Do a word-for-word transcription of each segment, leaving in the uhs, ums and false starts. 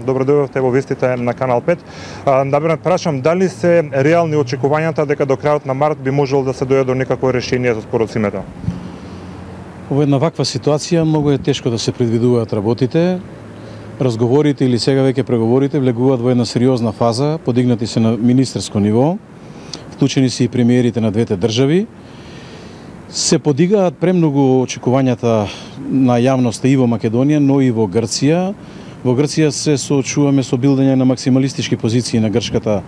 добро дојдовте во вестите на Канал пет. Да би прашам дали се реални очекувањата дека до крајот на март би можело да се дојде до некакво решение за споразумето? Во една ваква ситуација многу е тешко да се предвидуваат работите. Разговорите или сега веќе преговорите влегуваат во една сериозна фаза, подигнати се на министерско ниво, вклучени се и премиерите на двете држави. Се подигаат премногу очекувањата на јавноста и во Македонија, но и во Грција. Во Грција се соочуваме со билдање на максималистички позиции на грчката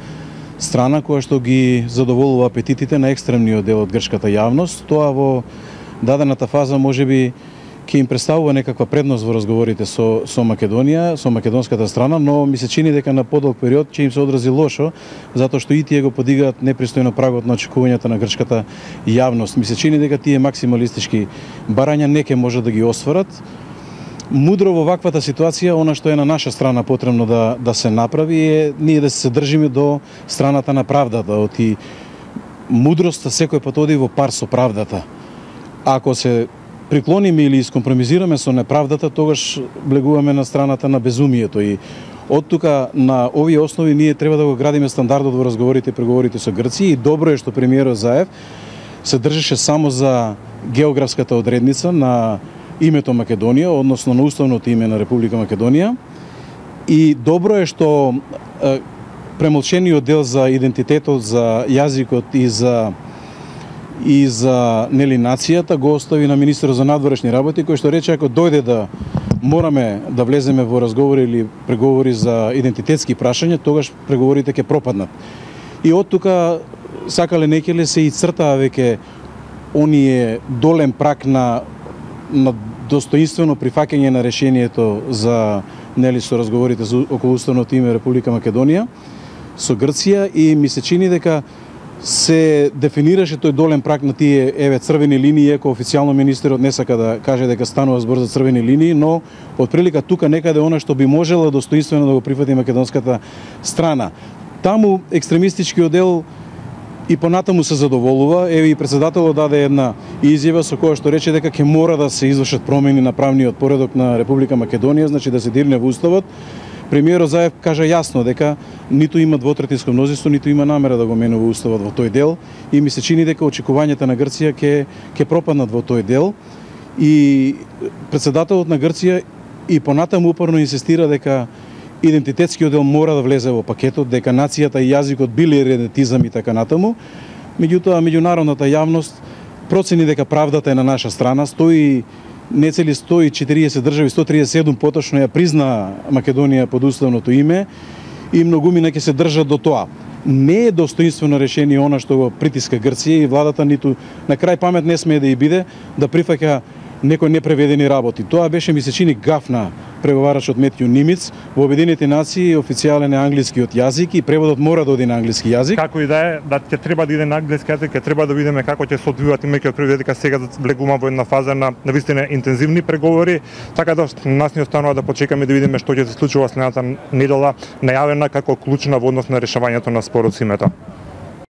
страна, која што ги задоволува апетитите на екстремниот дел од грчката јавност. Тоа во дадената фаза можеби ќе им представува некаква предност во разговорите со, со Македонија, со македонската страна, но ми се чини дека на подолг период ќе им се одрази лошо, затоа што и тие го подигаат непристојно прагот на очекувањата на грчката јавност. Ми се чини дека тие максималистички барања не ќе можат да ги осварат. Мудро во ваквата ситуација, она што е на наша страна потребно да, да се направи е ние да се држиме до страната на правдата. Оти мудроста секој пат оди во пар со правдата. Ако се приклониме или искомпромизираме со неправдата, тогаш влегуваме на страната на безумието и од тука на овие основи ние треба да го градиме стандардот во разговорите и преговорите со Грција и добро е што премиерот Заев се држеше само за географската одредница на името Македонија, односно на уставното име на Република Македонија и добро е што е, премолчениот дел за идентитетот, за јазикот и за и за нели нацијата го остави на министерот за надворешни работи, кој што рече ако дојде да мораме да влеземе во разговори или преговори за идентитетски прашања, тогаш преговорите ќе пропаднат. И од тука сакале некеле се и цртаа веќе оние долем прак на на достоинствено прифаќање на решението за нели со разговорите за околу уставното име Република Македонија со Грција и ми се чини дека се дефинираше тој долен прак на тие еве црвени линии, еко официјално министерот не сака да каже дека станува збор за црвени линии, но од прилика тука некаде она што би можела достоинствено да го прифати македонската страна. Таму екстремистичкиот дел и понатаму се задоволува. Еве и председателот даде една изјава со која што рече дека ќе мора да се извршат промени на правниот поредок на Република Македонија, значи да се дирне во уставот. Премиерот Заев кажа јасно дека ниту има двотретинско мнозинство, ниту има намера да го менува уставот во тој дел и ми се чини дека очекувањата на Грција ќе ќе пропаднат во тој дел и председателот на Грција и понатаму упорно инсистира дека идентитетскиот дел мора да влезе во пакетот, дека нацијата и јазикот били редетизам и така натаму. Меѓутоа меѓународната јавност процени дека правдата е на наша страна, стои нецели сто и четириесет држави, сто триесет и седум поточно ја призна Македонија под уставното име и многумина ќе се држат до тоа. Не е достоинствено решение она што го притиска Грција и владата ниту на крај памет не смее да и биде да прифаќа некои непреведени работи. Тоа беше ми се чини гаф на преговарачот Метју Нимиц. Во Обединетите нации официјален е англискиот јазик и преводот мора да оди на англиски јазик. Како и да е, да ќе треба да иде на англиски јазик, ќе треба да видиме како ќе се одвиваат имајќи предвид дека сега влегуваме во една фаза на навистина интензивни преговори, така да нас ни останува да почекаме да видиме што ќе се случува следната недела, најавена како клучна во однос на решавањето на спорот со името.